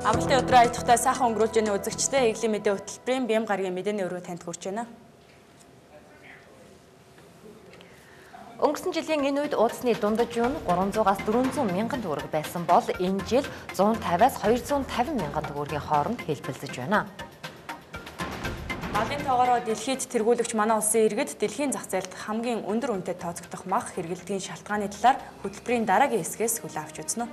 Амралтын өдрөө аж ахуйтай сайхан өнгөрүүлж яаны үзэгчтэй Иглийн мэдээ хөтөлбөрийн бям гарагийн мэдээний өрөө танд хүрч байна. Өнгөрсөн жилийн энэ үед уудасны дундаж юу нь 300-аас 400 мянган төгрөг байсан бол энэ жил 150-аас 250 мянган төгрөгийн хооронд хэлбэлзэж байна. Малын тоогоороо дэлхийд тэргүүлэгч манай улсын иргэд дэлхийн зах зээлд хамгийн өндөр үнэтэй тооцогдох мах хэрэглэдгийн шалтгааны талаар хөтөлбөрийн дараагийн хэсгээс хүлээн авч үзнэ.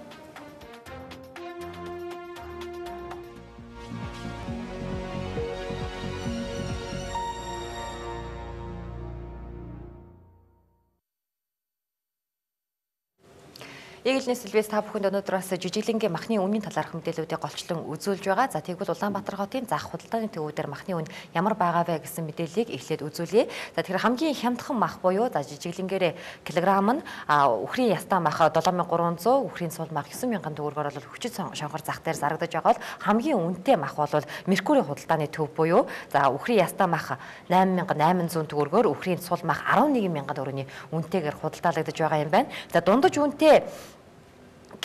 Иглийн Сэлбэс та бүхэнд өнөөдрөөс жижиглэнгийн махны үнийн талаарх мэдээллүүдийг голчлон үзүүлж байгаа. За тэгвэл Улаанбаатар хотын зах худалдааны төвүүдээр махны үн ямар байгаа вэ гэсэн мэдээллийг эхлээд үзүүлье. За тэгэхээр хамгийн хямдхан мах буюу за жижиглэнгээрээ килограмм нь үхрийн ястаа мах 7300, үхрийн сул мах 9000 төгрөгөөр бол хүчит шонхор зах дээр зарагдаж байгаа бол хамгийн үнэтэй мах бол Меркури худалдааны төв буюу за үхрийн ястаа мах 8800 төгрөгөөр, үхрийн сул мах 11000 төгрөгийн үнэтэйгээр худалдаалагдаж байгаа юм байна. За дундаж үнэтэй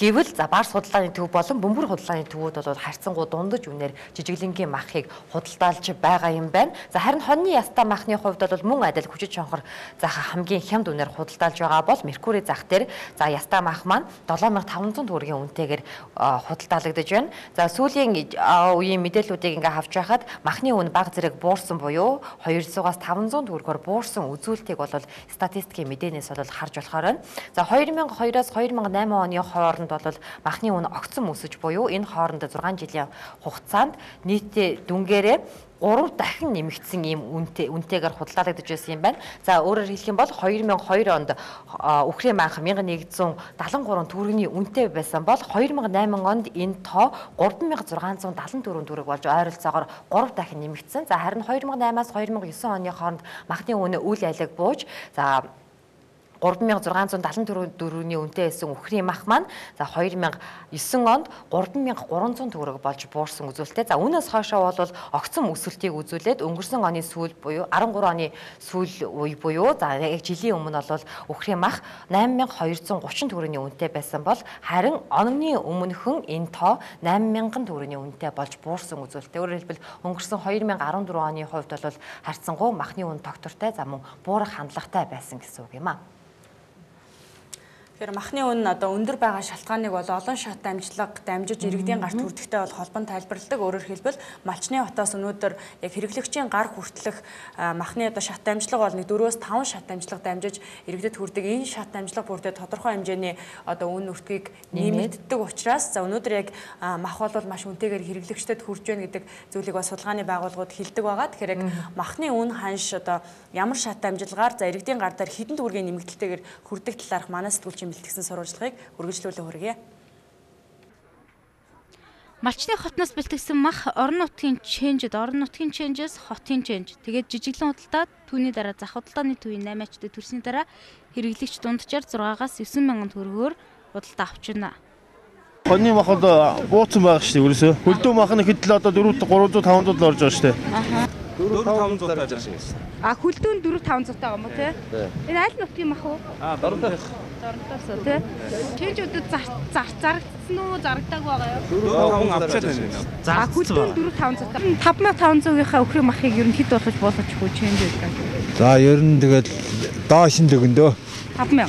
гэвэл за Барс худалдааны төв болон Бөмбөр худалдааны төвүүд бол харьцангуй дундаж үнээр жижиглэнгийн махыг худалдаалж байгаа юм байна. За харин хоньны ястаа махны хувьд бол мөн адил хүчит шонхор зах хамгийн хямд үнээр худалдаалж байгаа бол Меркури зах дээр за ястаа мах маань 7500 төгрөгийн үнэтэйгээр худалдаалагдаж байна. За сүүлийн үеийн мэдээллүүдийг ингээ авч байхад махны үн бага зэрэг буурсан буюу 200-аас 500 төгрөгөөр буурсан үзүүлэлтийг бол статистикийн мэдээнээс бол харж болохоор байна. За 2002-аас 2008 оны хооронд бол махны үн огцом өсөж буюу энэ хооронд 6 жилийн хугацаанд нийтдээ дүнгээрээ 3 дахин нэмэгдсэн ийм үнэтэйгээр худалдаалагдаж байсан юм байна. За өөрөөр хэлэх юм бол 2002 онд үхрийн мах 1173 төгрөгийн үнэтэй байсан бол 2008 онд энэ тоо 3674 төгрөг болж ойролцоогоор 3 дахин нэмэгдсэн. За харин 2008-аас 2009 оны хооронд махны үн үл айлаг бууж за 3674 төгрөгийн үнэтэй байсан үхрийн мах маань за 2009 онд 3300 төгрөг болж буурсан үзүүлэлттэй. За үүнээс хойшоо бол огцом өсөлтийг үзүүлээд өнгөрсөн оны сүүл буюу 13 оны сүүл үе буюу за яг жилийн өмнө бол үхрийн мах 8230 төгрөгийн үнэтэй байсан бол харин оны өмнөхөн энэ тоо 8000 төгрөгийн үнэтэй болж буурсан үзүүлэлттэй. Өөрөөр хэлбэл өнгөрсөн 2014 оны хувьд бол харьцангуй махны үн тогтвортой за мөн буурах хандлагатай байсан гэсэн үг юм аа. Тэгэхээр махны үн одоо өндөр байгаа шалтгааныг бол олон шат амжилтлага дамжиж иргэдийн гарт хүрдэхтэй бол холбон тайлбарладаг. Өөрөөр хэлбэл Малчны хотоос өнөөдөр яг хэрэглэгчийн гар хүртэлх махны одоо шат амжилтлага бол 4-өөс 5 шат амжилтлага дамжиж иргэдэд хүрдэг. Энэ шат амжилтлага бүрдээ тодорхой хэмжээний одоо үн үртгийг нэмэгддэг учраас за өнөөдөр яг мах бол маш үнэтэйгээр хэрэглэгчдэд хүрж байна гэдэг зүйлийг бас судалгааны байгууллагууд хэлдэг байгаа. Тэгэхээр яг махны үн ханш одоо ямар шат амжилтгаар за иргэдийн гар дээр хэдэн төгрөгийн нэмэгдэлтэйгээр хүрдэг талаарх манай сэтгүүлч бэлтгэсэн сурвалжлагыг үргэлжлүүлэн хүргье. Малчны хотноос бэлтгэсэн мах орон нутгийн ченжэд, орон нутгийн ченжээс хотын ченж. Тэгээд жижиглэн худалдаад түүний дараа зах худалдааны төвийн 8-ачтай төрсний дараа хэрэглэгч дунджаар 6-аас 9000 төгрөгөөр худалдаа авчирна. Хоньны мах бол бууцсан байгаа шүү дээ ерөөсөө. Хөлдөө мах нь хэдэл одоо 400-500 л орж байгаа шүү дээ. 400-500 таарж байгаа шээ. Хөлдөө 400-500 таа юм уу те? Энэ аль нутгийн мах уу? Дорнотоос те. Ченжүүдэд зарагдсан уу, зарагдааг байгаа юу? хүн авчаад байна. Хөлдөө 400-500 таа. 5500-ийнхаа өхрийн махыг ер нь хэд болгож болгочих вэ ченжүүд? За ер нь тэгэл доош нь дөгөндөө 5000.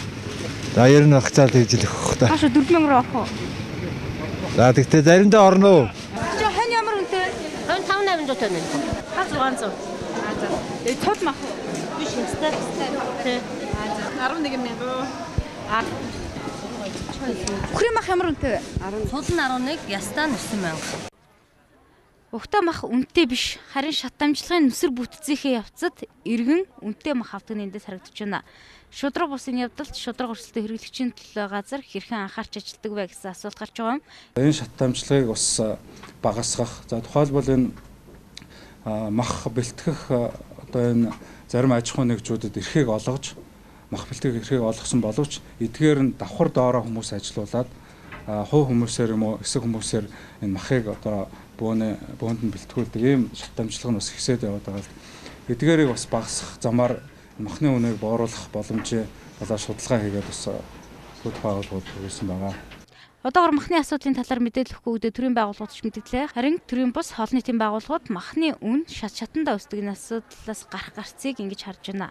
За ер нь хацаад хийжлэх хөх та. Хаашаа 4000 руу авах уу? За тэгтээ заримдаа орно уу? Чи хань ямар үнэтэй? 5800 тонн. 600. Цол мах уу? Биш хэвстэй. Тэ. 11000. Үхрийн мах ямар үнэтэй вэ? Цул нь 11, ястаа нь 9000. Угтаа мах үнэтэй биш, харин шат амжилтлагын нүсэр бүтцийнхээ явцад иргэн үнэтэй мах авдаг нь эндээс харагдаж байна. Шудраг бусын явдалт шудраг өрсөлдөөн хэрэглэгчийн төлөө газар хэрхэн анхаарч ажилтдаг вэ гэсэн асуулт гарч байгаа юм. Энэ шат амжилтлагыг бас багасгах. За тухайлбал энэ мах бэлтгэх одоо энэ зарим аж ахуйн нэгжүүдэд эрхийг олгож мах бэлтгэх эрхийг олгосон боловч эдгээр нь давхар доороо хүмүүс ажилуулад хувь хүмүүсээр юм уу эсэг хүмүүсээр энэ махыг одоо бөөнд нь бэлтгүүлдэг ийм шат амжилтлага нь бас ихсээд яваад байгаа л эдгээрийг бас багасгах замаар махны үнэийг бууруулах боломжийг болоо судалгаа хийгээд бас хөт байгууллагууд хүргэсэн байгаа. Одоогор махны асуудлын талаар мэдээлэл өгөхгүй төрийн байгууллагууд ч мэдээлээ. Харин төрийн бус олон нийтийн байгууллагууд махны үн шатандаа өсдөг энэ асуудлаас гарах гарцыг ингэж харж байна.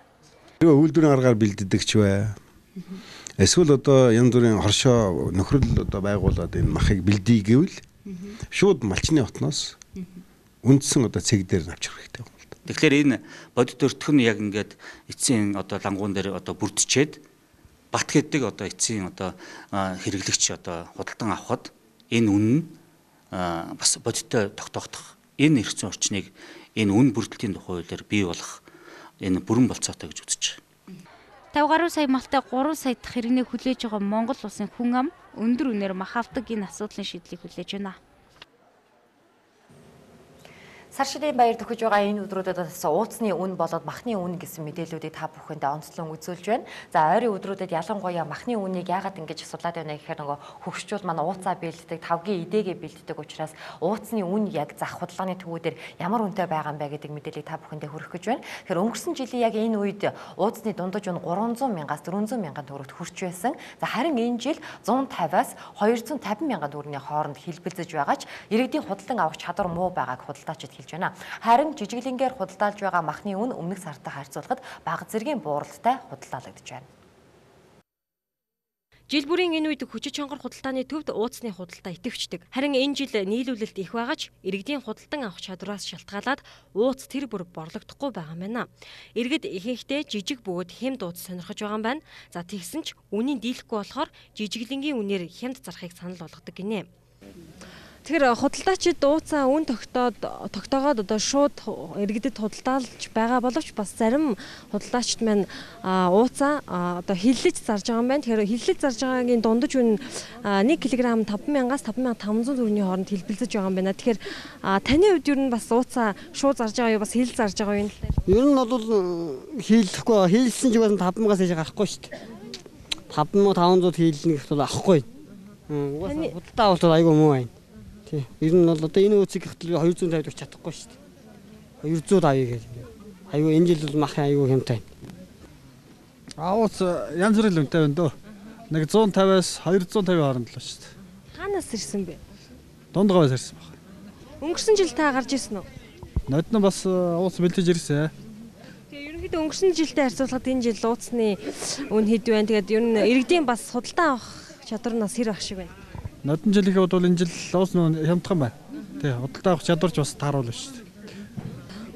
Үйлдвэрийн аргаар бэлддэг ч бай. Эсвэл одоо янз бүрийн хоршоо нөхрөл одоо байгуулад энэ махыг бэлдээ гэвэл шууд малчны хотноос үндсэн одоо цэг дээр авчрах хэрэгтэй юм л да. Тэгэхээр энэ бодит өртгөх нь яг ингээд эцсийн одоо лангуун дээр одоо бүрдчихэд бат гэдэг одоо эцсийн одоо хэрэглэгч одоо худалдан авахд энэ үн нь бас бодиттой тогтоох энэ эрх зүйн орчныг энэ үн бүрдэлтийн тухай хуулиар бий болох энэ бүрэн болцоотой гэж үзэж байна. 50 гаруй сая малтай 3 сая дахь хэрэгнээ хүлээж байгаа Монгол улсын хүн ам өндөр үнээр мах авдаг энэ асуудлын шийдлийг хүлээж байна. Сар шидийн баяр төхөж байгаа энэ өдрүүдэд ууцны үн болоод махны үн гэсэн мэдээллүүдийг та бүхэндээ онцлон үзүүлж байна. За ойрын өдрүүдэд ялангуяа махны үнийг яагаад ингэж судлаад байна гэхээр нөгөө хөгшчүүд маань ууцаа бэлддэг, тавгийн идэгээ бэлддэг учраас ууцны үн яг зах худалдааны төвүүдээр ямар үнэтэй байгаа юм бэ гэдэг мэдээллийг та бүхэндээ хүргэх гэж байна. Тэгэхээр өнгөрсөн жилийн яг энэ үед ууцны дундаж үн 300 мянгаас 400 мянган төгрөгт хүрч байсан. За харин энэ жил 150-аас 250 мянган төгрөгийн хооронд хэлбэлзэж байгаач иргэдийн худалдан авах чадвар муу байгааг худалдаачид хэлж байна. Харин жижиглэнгээр худалдаалж байгаа махны үн өмнөх сартай харьцуулахад бага зэргийн бууралтай худалдаалагдж байна. Жил бүрийн энэ үед хүчит чонгор худалдааны төвд ууцны худалдаа идэвхждэг. Харин энэ жил нийлүүлэлт их байгаач иргэдийн худалдан авах чадвараас шалтгаалаад ууц тэр бүр борлогдохгүй байгаа юм байна. Иргэд ихэнхдээ жижиг бөгөөд хямд ууц сонирхож байгаа юм байна. За тэгсэн ч үнийн дийлэхгүй болохоор жижиглэнгийн үнээр хямд зарахыг санал болгодог гинэ. Тэгэхээр худалдаачид ууцаа үн тогтоогоод одоо шууд иргэдэд худалдаалж байгаа боловч бас зарим худалдаачид маань ууцаа одоо хиллэж зарж байгаа юм байна. Тэгэхээр хиллэж зарж байгаагийн дундаж үн 1 кг 5,000-аас 5,500 төгрөгийн хооронд хэлбэлзэж байгаа юм байна. Тэгэхээр таны хувьд ер нь бас ууцаа шууд зарж байгаа юу бас хил зарж байгаа юу? Ер нь бол хийлдэхгүй хийлсэн ч бас 5,000-аас ийш гарахгүй шүү дээ. 5,500 хийлнэ гэхэд бол авахгүй. Угаасаа худалдаа авалт айгүй муу байна. Ер нь бол одоо энэ өөцийг гэтэл 250 өгч чадахгүй шүү дээ. 200 авъя гэж. Айгүй энэ жил бол махын айгүй хямтай. Ууц янз бүрийн үнэтэй байна дөө. Нэг 150-аас 250 хооронд л шүү дээ. Хаанаас ирсэн бэ? Дундгаваас ирсэн баг. Өнгөрсөн жил та гарч ирсэн үү? Нодно бас ууц бэлдэж ирсэн. Тэгээ ерөнхийдөө өнгөрсөн жилтэй харьцуулахад энэ жил ууцны үн хэд байна? Тэгээд ер нь иргэдийн бас худалдан авах чадвар нь бас хэр ах шиг байна? Нодон жилийнхээ бол энэ жил ууц нь хямдхан байна. Тий, худалдаа авах чадварч бас тааруулна шүү дээ.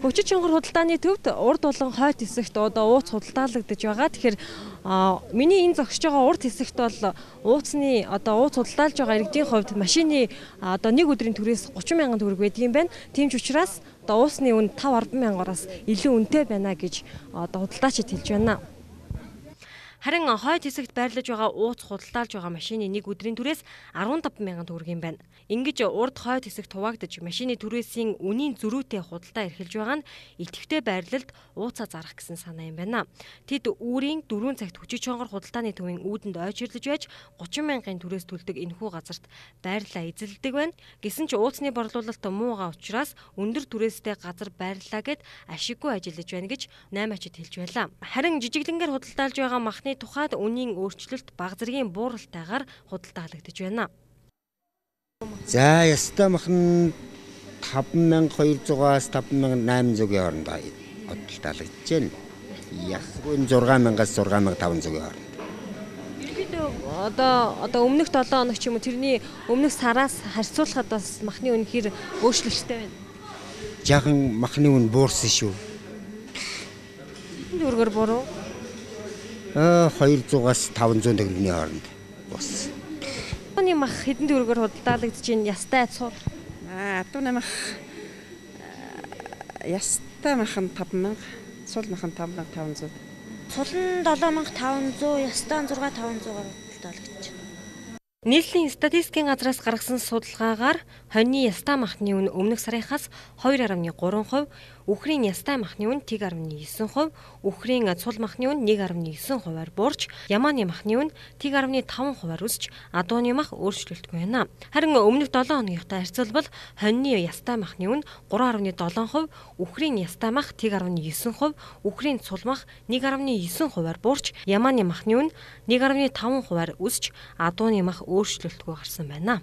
Хүчит чонгор худалдааны төвд урд болон хойд хэсэгт одоо ууц худалдаалагдаж байгаа. Тэгэхээр миний энэ зогсож байгаа урд хэсэгт бол ууцны одоо ууц худалдаалж байгаа иргэдийн хувьд машины одоо нэг өдрийн төрөөс 30 мянган төгрөг байдаг юм байна. Тийм ч учраас одоо ууцны үн 5-10 мянгараас илүү үнэтэй байна гэж одоо худалдаачид хэлж байна. Харин хойд хэсэгт байрлаж байгаа ууц худалдаалж байгаа машины нэг өдрийн түрээс 15 мянган төгрөг юм байна. Ингэж урд хойд хэсэгт хуваагдаж машины түрээсийн үнийн зөрүүтэй худалдаа эрхэлж байгаа нь идэвхтэй байрлалд ууцаа зарах гэсэн санаа юм байна. Тэд үүрийн 4 цагт хүчит чонгор худалдааны төвийн үүдэнд ойчирлож байж 30 мянган түрээс төлдөг энэхүү газарт байрлалаа эзэлдэг байна. Гэсэн ч ууцны борлуулалт муугаа учраас өндөр түрээстэй газар байрлалаа гэд ашиггүй ажиллаж байна гэж 8-ачид хэлж байлаа. Харин жижиглэнгээр худалдаалж байгаа махны тухайд үнийн өөрчлөлт бага зэргийн бууралтайгаар худалдаалагдаж байна. За яста махан 5200-аас 5800-ийн хооронд худалдаалагдаж байна. Ясгүй 6000-аас 6500-ийн хооронд. Ерөнхийдөө одоо өмнөх 7 хоног ч юм уу тэрний өмнөх сараас харьцуулахад бас махны үн хэр өөрчлөлттэй байна. Жаахан махны үн буурсан шүү. Хэдэн төгрөгөөр буурав? 200-аас 500 төгрөгийн хооронд бус. Оны мах хэдэн төгрөгөөр худалдаалагдаж байна? Ястай цууд. Атуна мах ястай мах нь 5000, цул мах нь 5500. Цул нь 7500, ястай нь 6500-аар худалдаалагдаж байна. Нийслэлийн статистикийн газраас гаргасан судалгаагаар хоньны ястай махны үн өмнөх сарынхаас 2.3%, үхрийн ястай махны үн 1.9%, үхрийн цул махны үн 1.9%-аар буурч, ямааны махны үн 1.5%-аар өсч, адууны мах өөрчлөлтгүй байна. Харин өмнөх 7 хоногтой харьцуулбал хоньны ястай махны үн 3.7%, үхрийн ястай мах 1.9%, үхрийн цул мах 1.9%-аар буурч, ямааны махны үн 1.5%-аар өсч, адууны мах өөрчлөлтгүй гарсан байна.